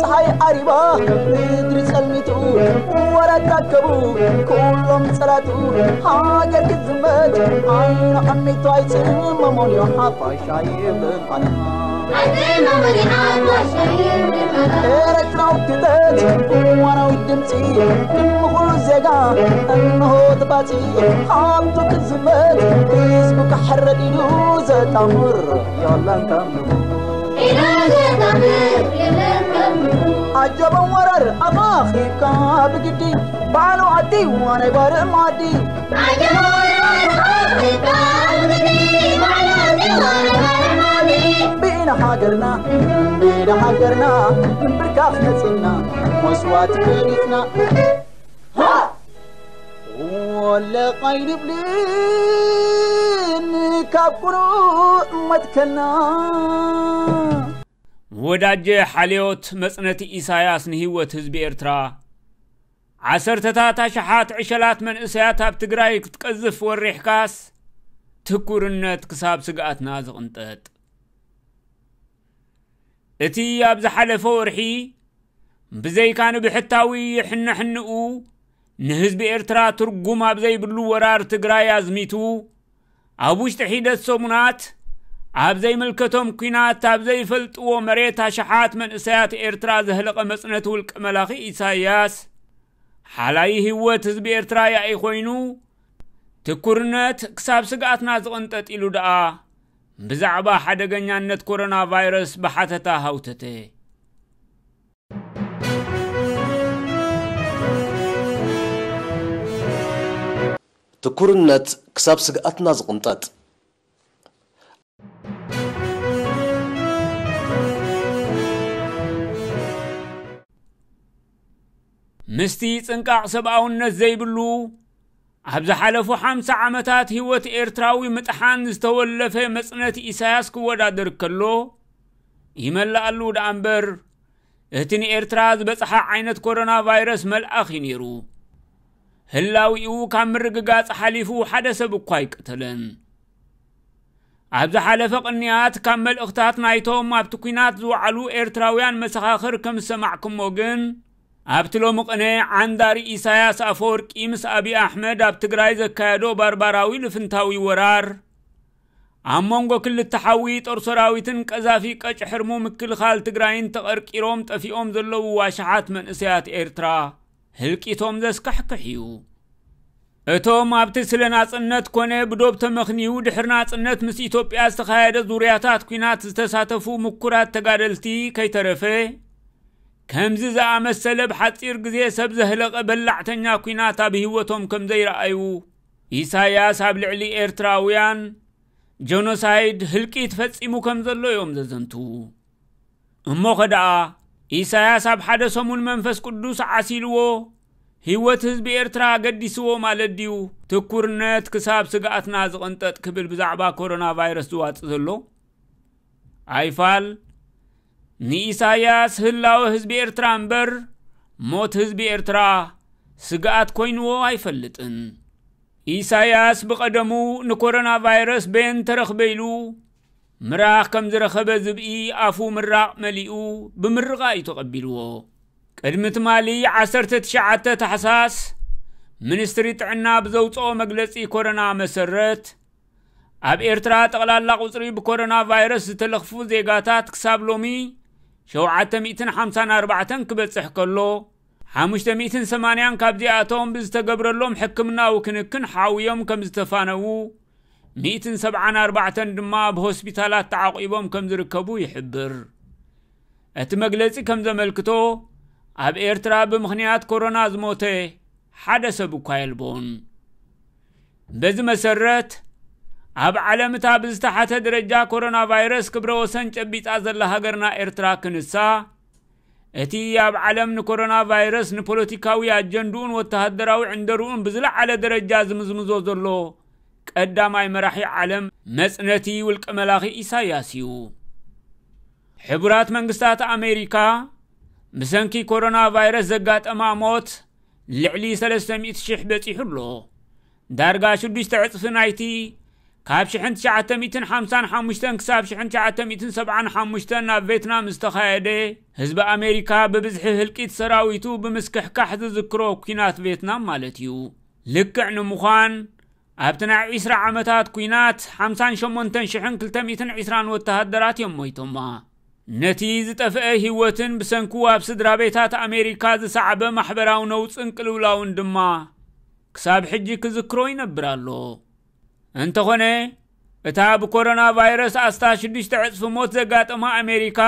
ፀሓይ ዓሪባ ምድሪ ጸልሚቱ ወራት ኣከቡ ኩሎም ጸላቱ ሃገር ክትዝመት ዓይኑ ዓሚቱ ኣይጽመሞን እዩ ሓፋሽ ኣይብልን ቃና። ኤረትራዊ ክተት እዋናዊ ድምፂ ንኹሉ ዜጋ እንሆ ተባፂ ሃብቱ ክዝመት ህዝቡ ክሕረድ ኢሉ ዘጣምር የለን ከም ንጉ። ኣጀቦም ወራር ኣማኺካ ብግዲ ባዕሉ ዓዲ ዋናይ ባርም ዓዲ። ብኢና ሃገርና ብኢና ሃገርና ብርካፍ መፂና መስዋዕት ከሪፍና። ወለቕ ኣይንብልን ካብ ቁሩእ መትከልና። ወዳጀ ሓልዮት መጽነቲ ኢሳያስ ንህይወት ህዝቢ ኤርትራ። ዓሰርተታት ኣሽሓት ዕሸላት መንእሰያት ኣብ ትግራይ ክትቀዝፍ ወሪሕካስ፣ ትኩርነት ክሳብ ስግኣትና ዝቕንጠጥ። እቲ ኣብ ዝሓለፈ ወርሒ ብዘይካ ንብሕታዊ ሕንሕንኡ ንህዝቢ ኤርትራ ትርጉም ኣብ ዘይብሉ ወራር ትግራይ ኣዝሚቱ፣ ኣብ ውሽጢ ሒደት ሰሙናት ኣብ ዘይምልከቶም ኲናት ኣብ ዘይፈልጥዎ መሬት ኣሽሓት መንእሰያት ኤርትራ ዘህለቐ መጽነቲ ውልቀ መላኺ ኢሳያስ፣ ሓላይ ህይወት ህዝቢ ኤርትራ ያኢ ኮይኑ፣ ትኩርነት ክሳብ ስግኣትና ዝቕንጠጥ ኢሉ ደኣ ብዛዕባ ሓደገኛነት ኮሮና ቫይረስ ብሓተታ ሃውተተ። ትኩርነት ክሳብ ስግኣትና ዝቕንጠጥ። ምስቲ ጽንቃቕ ሰብኣውነት ዘይብሉ፣ ኣብ ዝሓለፉ ሓምሳ ዓመታት ህይወት ኤርትራዊ ምጥሓን ዝተወለፈ መጽነቲ ኢሳያስ ክወዳደር ከሎ፣ ይመልኣሉ ደኣ እምበር፣ እቲ ንኤርትራ ዝበጽሓ ዓይነት ኮሮና ቫይረስ መልኣኽ እዩ ነይሩ። ህላዊኡ ካብ ምርግጋጽ ሓሊፉ ሓደ ሰብ እኳ ኣይቀተለን። ኣብ ዝሓለፈ ቅንያት ካብ መልእኽታት ናይቶም ኣብቲ ኲናት ዝወዓሉ ኤርትራውያን መሰኻኽር ከም ዝሰማዕኩሞ ግን፣ ኣብቲ ሎሚ ቅነ ዓንዳሪ ኢሳያስ ኣፈወርቂ ምስ ኣብይ ኣሕመድ ኣብ ትግራይ ዘካየዶ ባርባራዊ ልፍንታዊ ወራር፣ ኣብ መንጎ ክልተ ሓዊ ጦር ሰራዊትን ቀዛፊ ቀጭሕርሙ ምክልኻል ትግራይን ተቐርቂሮም ጠፊኦም ዘለዉ ኣሽሓት መንእሰያት ኤርትራ ህልቂቶም ዘስካሕክሕ እዩ። እቶም ኣብቲ ስለ ናጽነት ኮነ ብዶብ ተመኽንዩ ድሕሪ ናጽነት ምስ ኢትዮጵያ ዝተኻየደ ዙርያታት ኲናት ዝተሳተፉ ምኩራት ተጋደልቲ ከይተረፈ፣ ከምዚ ዝኣመሰለ ብሓጺር ግዜ ሰብ ዘህለቐ በላዕተኛ ኲናት ኣብ ህይወቶም ከም ዘይረኣዩ፣ ኢሳያስ ኣብ ልዕሊ ኤርትራውያን ጀኖሳይድ ህልቂት ፈጺሙ ከም ዘሎ እዮም ዘዘንትዉ። እሞኸ ደኣ፣ ኢሳያስ ኣብ ሓደ ሰሙን መንፈስ ቅዱስ ዓሲልዎ፣ ህይወት ህዝቢ ኤርትራ ኣገዲስዎ ማለት ድዩ? ትኩርነት ክሳብ ስግኣትና ዝቕንጠጥ ክብል ብዛዕባ ኮሮና ቫይረስ ዝዋጽእ ዘሎ? ኣይፋል፣ ንኢሳያስ ህላወ ህዝቢ ኤርትራ እምበር፣ ሞት ህዝቢ ኤርትራ ስግኣት ኮይንዎ ኣይፈልጥን። ኢሳያስ ብቐደሙ ንኮሮና ቫይረስ በየን ተረኽበ ኢሉ ምራኽ ከም ዝረኸበ ዝብኢ ኣፉ ምራቕ መሊኡ ብምርቓ እዩ ተቐቢልዎ። ቅድሚ ትማሊ ዓሰርተ ትሽዓተ ታሕሳስ፣ ሚኒስትሪ ጥዕና ብዘውጽኦ መግለጺ ኮሮና መሰረት፣ ኣብ ኤርትራ ጠቕላላ ቁጽሪ ብኮሮና ቫይረስ ዝተለኽፉ ዜጋታት ክሳብ ሎሚ ሸውዓተ ሚእትን ሓምሳን ኣርባዕተን ክበጽሕ ከሎ፣ ሓሙሽተ ሚእትን ሰማንያን ካብዚኣቶም ብዝተገብረሎም ሕክምናዊ ክንክን ሓውዮም ከም ዝተፋነዉ፣ ሚእትን ሰብዓን ኣርባዕተን ድማ ኣብ ሆስፒታላት ተዓቂቦም ከም ዝርከቡ ይሕብር። እቲ መግለጺ ከም ዘመልክቶ፣ ኣብ ኤርትራ ብምኽንያት ኮሮና ዝሞተ ሓደ ሰብ እኳ የልቦን። በዚ መሰረት፣ ኣብ ዓለም እታ ብዝተሓተ ደረጃ ኮሮና ቫይረስ ክብረ ወሰን ጨቢጣ ዘላ ሃገርና ኤርትራ ክንሳ፣ እቲ ኣብ ዓለም ንኮሮና ቫይረስ ንፖለቲካዊ ኣጀንድኡን ወተሃደራዊ ዕንደርኡን ብዝለዓለ ደረጃ ዝምዝምዞ ዘሎ ቀዳማይ መራሒ ዓለም መጽነቲ ውልቀ መላኺ ኢሳያስ እዩ። ሕቡራት መንግስታት ኣሜሪካ ብሰንኪ ኮሮና ቫይረስ ዘጋጠማ ሞት ልዕሊ ሰለስተ ሚእቲ ሽሕ በጺሑ ኣሎ። ዳርጋ ሽዱሽተ ዕጽፊ ናይቲ ካብ ሽሕን ትሽዓተ ሚእትን ሓምሳን ሓሙሽተን ክሳብ ሽሕን ትሽዓተ ሚእትን ሰብዓን ሓሙሽተን ናብ ቬትናም ዝተኻየደ፣ ህዝቢ ኣሜሪካ ብብዝሒ ህልቂት ሰራዊቱ ብምስክሕካሕ ዝዝክሮ ኲናት ቬትናም ማለት እዩ። ልክዕ ንምዃን፣ ኣብቲ ናይ ዒስራ ዓመታት ኲናት ሓምሳን ሸሞንተን ሽሕን ክልተ ሚእትን ዒስራን ወተሃደራት እዮም ሞይቶማ። ነቲ ዝጠፍአ ህይወትን ብሰንኩ ኣብ ስድራ ቤታት ኣሜሪካ ዝሰዓበ ማሕበራዊ ነውጽን ቅልውላውን ድማ ክሳብ ሕጂ ክዝክሮ ይነብር ኣሎ። እንተኾነ፣ እታ ብኮሮና ቫይረስ ኣስታት ሽዱሽተ ዕጽፊ ሞት ዘጋጠማ ኣሜሪካ፣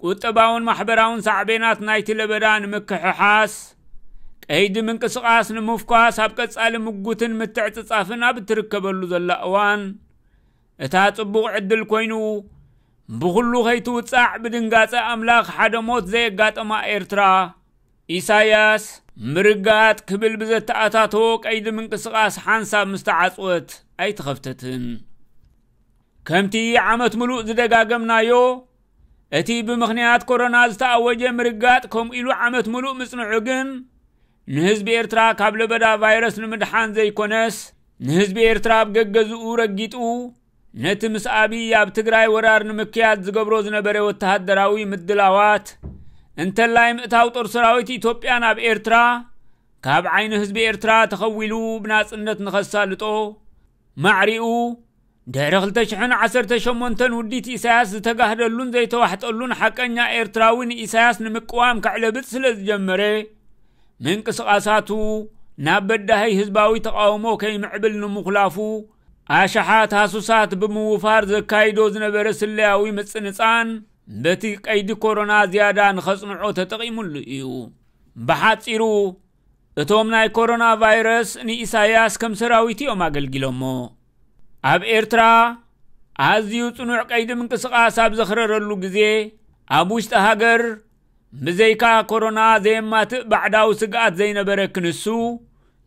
ቁጠባውን ማሕበራውን ሳዕቤናት ናይቲ ለበዳ ንምክሕሓስ፣ ቀይዲ ምንቅስቓስ ንምፍኳስ ኣብ ቀጻሊ ምጉትን ምትዕጽጻፍን ኣብ እትርከበሉ ዘላ እዋን፣ እታ ጽቡቕ ዕድል ኮይኑ፣ ብኹሉ ከይትውጻዕ ብድንጋጸ ኣምላኽ ሓደ ሞት ዘየጋጠማ ኤርትራ፣ ኢሳያስ ምርጋጥ ክብል ብዘተኣታተዎ ቀይዲ ምንቅስቓስ ሓንሳብ ምስ ተዓጽወት ኣይተኸፍተትን። ከምቲ ዓመት ምሉእ ዝደጋገምናዮ፣ እቲ ብምኽንያት ኮሮና ዝተኣወጀ ምርጋጥ ከምኡ ኢሉ ዓመት ምሉእ ምጽንዑ ግን፣ ንህዝቢ ኤርትራ ካብ ለበዳ ቫይረስ ንምድሓን ዘይኮነስ፣ ንህዝቢ ኤርትራ ኣብ ገገዝኡ ረጊጡ፣ ነቲ ምስ ኣብይ ኣብ ትግራይ ወራር ንምክያድ ዝገብሮ ዝነበረ ወተሃደራዊ ምድላዋት፣ እንተላይ ምእታው ጦር ሰራዊት ኢትዮጵያ ናብ ኤርትራ፣ ካብ ዓይኒ ህዝቢ ኤርትራ ተኸዊሉ ብናጽነት ንኸሳልጦ፣ ማዕሪኡ ድሕሪ ክልተ ሽሕን ዓሰርተ ሸሞንተን ውዲት ኢሳያስ ዝተጋህደሉን ዘይተዋሕጠሉን ሓቀኛ ኤርትራዊ ንኢሳያስ ንምቅዋም ከዕለብጥ ስለ ዝጀመረ፣ ምንቅስቓሳቱ ናብ በዳሂ ህዝባዊ ተቓውሞ ከይምዕብል ንምኹላፉ፣ ኣሽሓት ሃሱሳት ብምውፋር ዘካይዶ ዝነበረ ስለያዊ ምጽንጻን፣ በቲ ቀይዲ ኮሮና ዝያዳ ንኸጽንዖ ተጠቒሙሉ እዩ። ብሓጺሩ፣ እቶም ናይ ኮሮና ቫይረስ ንኢሳያስ ከም ሰራዊት እዮም ኣገልጊሎሞ። ኣብ ኤርትራ ኣዝዩ ጽኑዕ ቀይዲ ምንቅስቓስ ኣብ ዘኽረረሉ ግዜ፣ ኣብ ውሽጢ ሃገር ብዘይካ ኮሮና ዘየማትእ ባዕዳዊ ስግኣት ዘይነበረ ክንሱ፣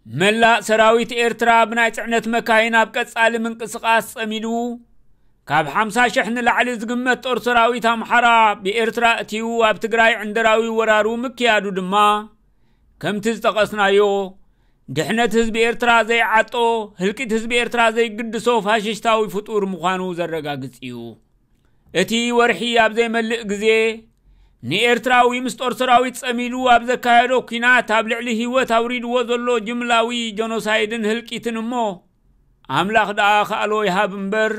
መላእ ሰራዊት ኤርትራ ብናይ ጽዕነት መካይን ኣብ ቀጻሊ ምንቅስቓስ ጸሚዱ፣ ካብ ሓምሳ ሽሕ ንላዕሊ ዝግመት ጦር ሰራዊት ኣምሓራ ብኤርትራ እትዩ ኣብ ትግራይ ዕንደራዊ ወራሩ ምክያዱ ድማ፣ ከምቲ ዝጠቐስናዮ፣ ድሕነት ህዝቢ ኤርትራ ዘይዓጦ፣ ህልቂት ህዝቢ ኤርትራ ዘይግድሶ ፋሽስታዊ ፍጡር ምዃኑ ዘረጋግጽ እዩ። እቲ ወርሒ ኣብ ዘይመልእ ግዜ፣ ንኤርትራዊ ምስ ጦር ሰራዊት ጸሚዱ ኣብ ዘካየዶ ኲናት ኣብ ልዕሊ ህይወት ኣውሪድዎ ዘሎ ጅምላዊ ጀኖሳይድን ህልቂትን እሞ፣ ኣምላኽ ደኣ ከኣሎ ይሃብ እምበር፣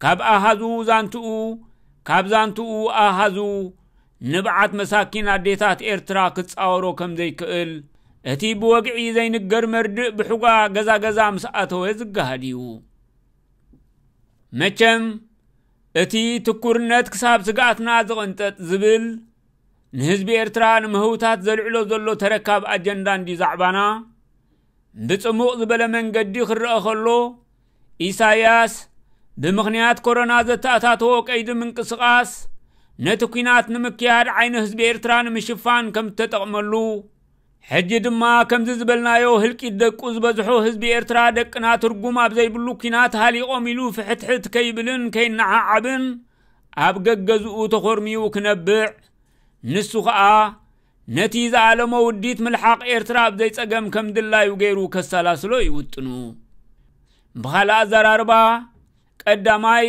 ካብ ኣሃዙ ዛንትኡ፣ ካብ ዛንትኡ ኣሃዙ፣ ንብዓት መሳኪን ኣዴታት ኤርትራ ክጻወሮ ከም ዘይክእል፣ እቲ ብወግዒ ዘይንገር መርድእ ብሕጓ ገዛ ገዛ ምስ ኣተወ ዝገሃድ እዩ። መቸም፣ እቲ ትኩርነት ክሳብ ስግኣትና ዝቕንጠጥ ዝብል፣ ንህዝቢ ኤርትራ ንምህውታት ዘልዕሎ ዘሎ ተረካብ ኣጀንዳ እንዲ ዛዕባና፣ ብጽሙቕ ዝበለ መንገዲ ክረአ ከሎ፣ ኢሳያስ ብምኽንያት ኮሮና ዘተኣታተዎ ቀይዲ ምንቅስቓስ፣ ነቲ ኲናት ንምክያድ ዓይኒ ህዝቢ ኤርትራ ንምሽፋን ከም እተጠቕመሉ፣ ሕጂ ድማ ከምዚ ዝበልናዮ ህልቂት ደቁ ዝበዝሖ ህዝቢ ኤርትራ ደቅና ትርጉም ኣብ ዘይብሉ ኲናት ሃሊቖም ኢሉ ፍሕትሕት ከይብልን ከይነዓዓብን ኣብ ገገዝኡ ተኾርሚዩ ክነብዕ፣ ንሱ ኸኣ ነቲ ዝኣለሞ ውዲት ምልሓቕ ኤርትራ ኣብ ዘይጸገም ከም ድላዩ ገይሩ ከሰላስሎ እዩ ውጥኑ። ብኻልእ ኣዘራርባ፣ ቀዳማይ፣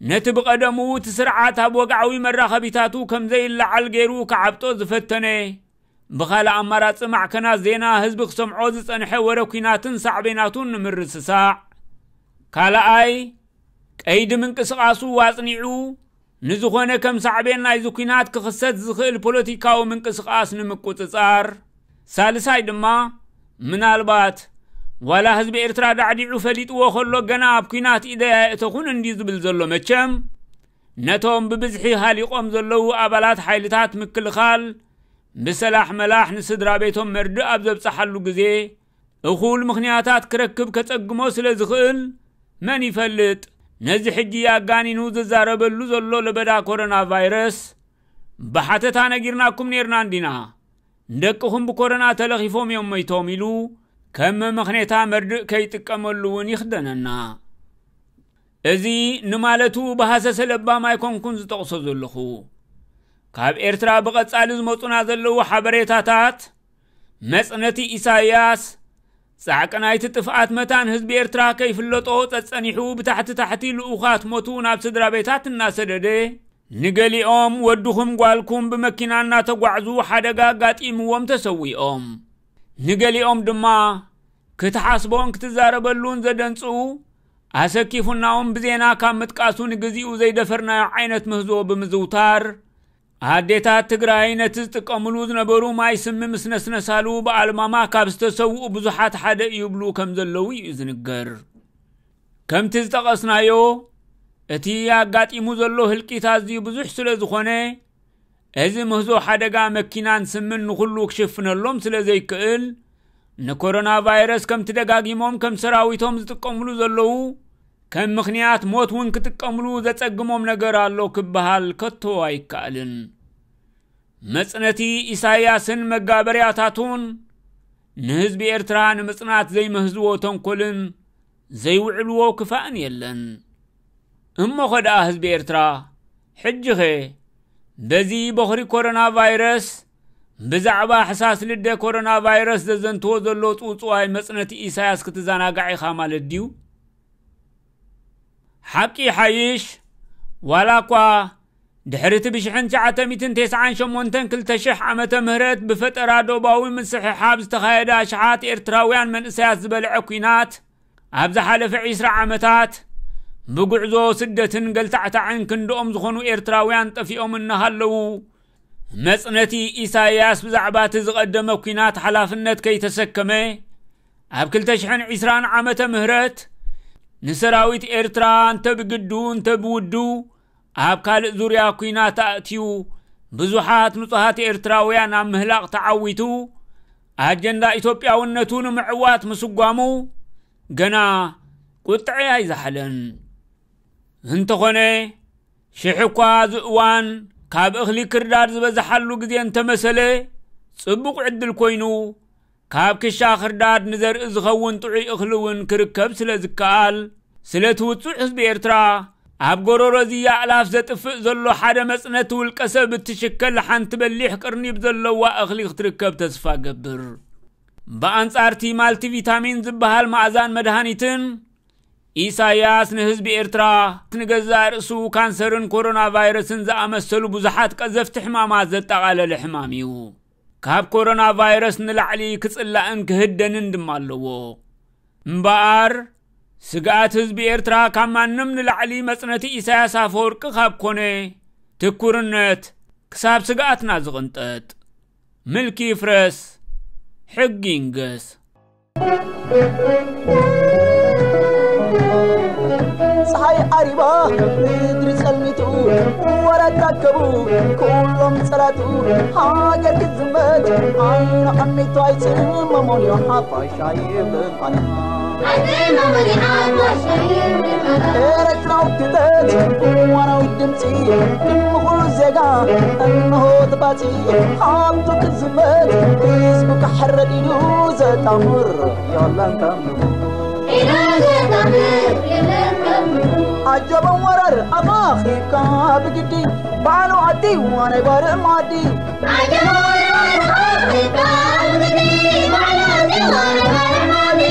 ነቲ ብቐደሙ እቲ ስርዓት ኣብ ወግዓዊ መራኸቢታቱ ከም ዘይለዓል ገይሩ ክዓብጦ ዝፈተነ፣ ብኻልእ ኣማራጺ ማዕከናት ዜና ህዝቢ ክሰምዖ ዝጸንሐ ወረ ኲናትን ሳዕቤናቱን ንምርስሳዕ። ካልኣይ፣ ቀይዲ ምንቅስቓሱ ኣጽኒዑ፣ ንዝኾነ ከም ሳዕቤን ናይዚ ኲናት ክኽሰት ዝኽእል ፖለቲካዊ ምንቅስቓስ ንምቁጽጻር። ሳልሳይ ድማ፣ ምናልባት፣ ዋላ ህዝቢ ኤርትራ ዳዕዲዑ ፈሊጥዎ ከሎ ገና ኣብ ኲናት ኢደይ ኣየእተኹን እንድዩ ዝብል ዘሎ መቸም፣ ነቶም ብብዝሒ ሃሊቖም ዘለዉ ኣባላት ሓይልታት ምክልኻል ብሰላሕ መላሕ ንስድራ ቤቶም መርድእ ኣብ ዘብጽሓሉ ግዜ፣ እኹል ምኽንያታት ክረክብ ከጸግሞ ስለ ዝኽእል፣ መን ይፈልጥ፣ ነዚ ሕጂ ኣጋኒኑ ዝዛረበሉ ዘሎ ለበዳ ኮሮና ቫይረስ፣ ብሓተታ ነጊርናኩም ኔርና እንዲና፣ ደቅኹም ብኮሮና ተለኺፎም እዮም ሞይቶም ኢሉ፣ ከም መመኽኔታ መርድእ ከይጥቀመሉ እውን ይኽደነና። እዚ ንማለቱ ብሃሰሰ ለባም ኣይኮንኩን ዝጠቕሶ ዘለኹ። ካብ ኤርትራ ብቐጻሊ ዝመጹና ዘለዉ ሓበሬታታት፣ መጽነቲ ኢሳያስ፣ ጻዕቂ ናይቲ ጥፍኣት መታን ህዝቢ ኤርትራ ከይፍለጦ ጸጸኒሑ ብታሕቲ ታሕቲ ልኡኻት ሞቱ ናብ ስድራ ቤታት እናሰደደ፣ ንገሊኦም ወድኹም ጓልኩም ብመኪና እናተጓዕዙ ሓደጋ ኣጋጢምዎም ተሰዊኦም። ንገሊኦም ድማ ክትሓስቦን ክትዛረበሉን ዘደንጽኡ ኣሰኪፉናውን ብዜና ካብ ምጥቃሱ ንግዚኡ ዘይደፈርናዮ ዓይነት ምህዞ ብምዝውታር፣ ኣዴታት ትግራይ ነቲ ዝጥቀምሉ ዝነበሩ ማይ ስሚ ምስ ነስነሳሉ ብኣልማማ ካብ ዝተሰውኡ ብዙሓት ሓደ ይብሉ ከም ዘለዉ እዩ ዝንገር። ከምቲ ዝጠቐስናዮ፣ እቲ ኣጋጢሙ ዘሎ ህልቂት ኣዝዩ ብዙሕ ስለ ዝኾነ፣ እዚ ምህዞ ሓደጋ መኪናን ስምን ንኹሉ ክሽፍነሎም ስለ ዘይክእል፣ ንኮሮና ቫይረስ ከምቲ ደጋጊሞም ከም ሰራዊቶም ዝጥቀምሉ ዘለዉ፣ ከም ምኽንያት ሞት እውን ክጥቀምሉ ዘጸግሞም ነገር ኣሎ ክበሃል ከቶ ኣይከኣልን። መጽነቲ ኢሳያስን መጋበርያታቱን ንህዝቢ ኤርትራ ንምጽናት ዘይመህዝዎ ተንኮልን ዘይውዕልዎ ክፋእን የለን። እሞኸ ደኣ ህዝቢ ኤርትራ፣ ሕጂኸ በዚ በኹሪ ኮሮና ቫይረስ፣ ብዛዕባ ሕሳስ ልደ ኮሮና ቫይረስ ዘዘንትዎ ዘሎ ጽውጽዋይ መጽነቲ ኢሳያስ ክትዘናጋዕ ኢኻ ማለት ድዩ? ሓቂ ይሓይሽ፣ ዋላ እኳ ድሕሪ እቲ ብሽሕን ትሽዓተ ሚእትን ተስዓን ሸሞንተን ክልተ ሽሕ ዓመተ ምህረት ብፈጠራ ዶባዊ ምስሕሓብ ዝተኻየደ ኣሽሓት ኤርትራውያን መንእሰያት ዝበልዐ ኲናት፣ ኣብ ዝሓለፈ ዒስራ ዓመታት ብጉዕዞ ስደትን ገልታዕታዕን ክንድኦም ዝኾኑ ኤርትራውያን ጠፊኦም እናሃለዉ፣ መጽነቲ ኢሳያስ ብዛዕባ እቲ ዝቐደመ ኲናት ሓላፍነት ከይተሰከመ፣ ኣብ ክልተ ሽሕን ዕስራን ዓመተ ምህረት ንሰራዊት ኤርትራ እንተ ብግዱ እንተ ብውዱ ኣብ ካልእ ዙርያ ኲናት ኣእትዩ ብዙሓት ንጹሃት ኤርትራውያን ኣብ ምህላቕ ተዓዊቱ፣ ኣጀንዳ ኢትዮጵያውነቱ ንምዕዋት ምስጓሙ ገና ቁጥዐ ኣይዘሓለን። እንተኾነ፣ ሽሕ እኳ እዚ እዋን ካብ እኽሊ ክርዳድ ዝበዝሓሉ ግዜ እንተመሰለ፣ ጽቡቕ ዕድል ኮይኑ፣ ካብ ክሻ ክርዳድ ንዘርኢ ዝኸውን ጥዑይ እኽሊ እውን ክርከብ ስለ ዝከኣል፣ ስለቲ ውጹዕ ህዝቢ ኤርትራ፣ ኣብ ጎረሮ እዚ ኣእላፍ ዘጥፍእ ዘሎ ሓደ መጽነቲ ውልቀ ሰብ እትሽከል ሓንቲ በሊሕ ቅርኒብ ዘለዋ እኽሊ ክትርከብ ተስፋ ገብር። ብኣንጻር እቲ ማልቲቪታሚን ዝበሃል መኣዛን መድሃኒትን፣ ኢሳያስ ንህዝቢ ኤርትራ ንገዛእ ርእሱ ካንሰርን ኮሮና ቫይረስን ዝኣመሰሉ ብዙሓት ቀዘፍቲ ሕማማት ዘጠቓለለ ሕማም እዩ። ካብ ኮሮና ቫይረስ ንላዕሊ ክጽላእን ክህደንን ድማ ኣለዎ። እምበኣር፣ ስግኣት ህዝቢ ኤርትራ ካብ ማንም ንላዕሊ መጽነቲ ኢሳያስ ኣፈወርቂ ካብ ኮነ፣ ትኩርነት ክሳብ ስግኣትና ዝቕንጠጥ። ምልኪ ይፍረስ፣ ሕጊ ይንገስ። ፀሓይ ዓሪባ ምድሪ ጸልሚቱ ወረት ኣከቡ ኩሎም ጸላቱ ሃገር ክትዝመት ዓይኑ ዓሚቱ ኣይጽመሞን እዩ ሓፋሽ ኣይብልን ቃና። ኤረትራዊ ክተት እዋናዊ ድምፂ ንኹሉ ዜጋ እንሆ ተባፂ ሃብቱ ክትዝመት ህዝቡ ክሕረድ ኢሉ ዘጣምር የለን ከም ንጉ። ኢሉ ዘጣምር የለን ከም ንጉ። ኣጀበ ወራር ኣኻኺብካ ብግዲ ባዕሉ ዓዲ ዋናይ ባርዕ ማዲ። ኣጀበ ወራር ኣኻኺብካ ብግዲ ባዕሉ ዓዲ ዋናይ ባርዕ ማዲ።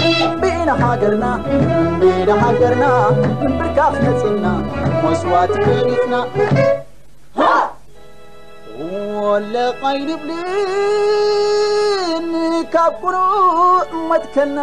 ብኢና ሃገርና ብኢና ሃገርና ብርካኽ መፂና መስዋዕቲ ከሊፍና። ወለ ቃይልብልን ካብ ቁሩእ መትከልና።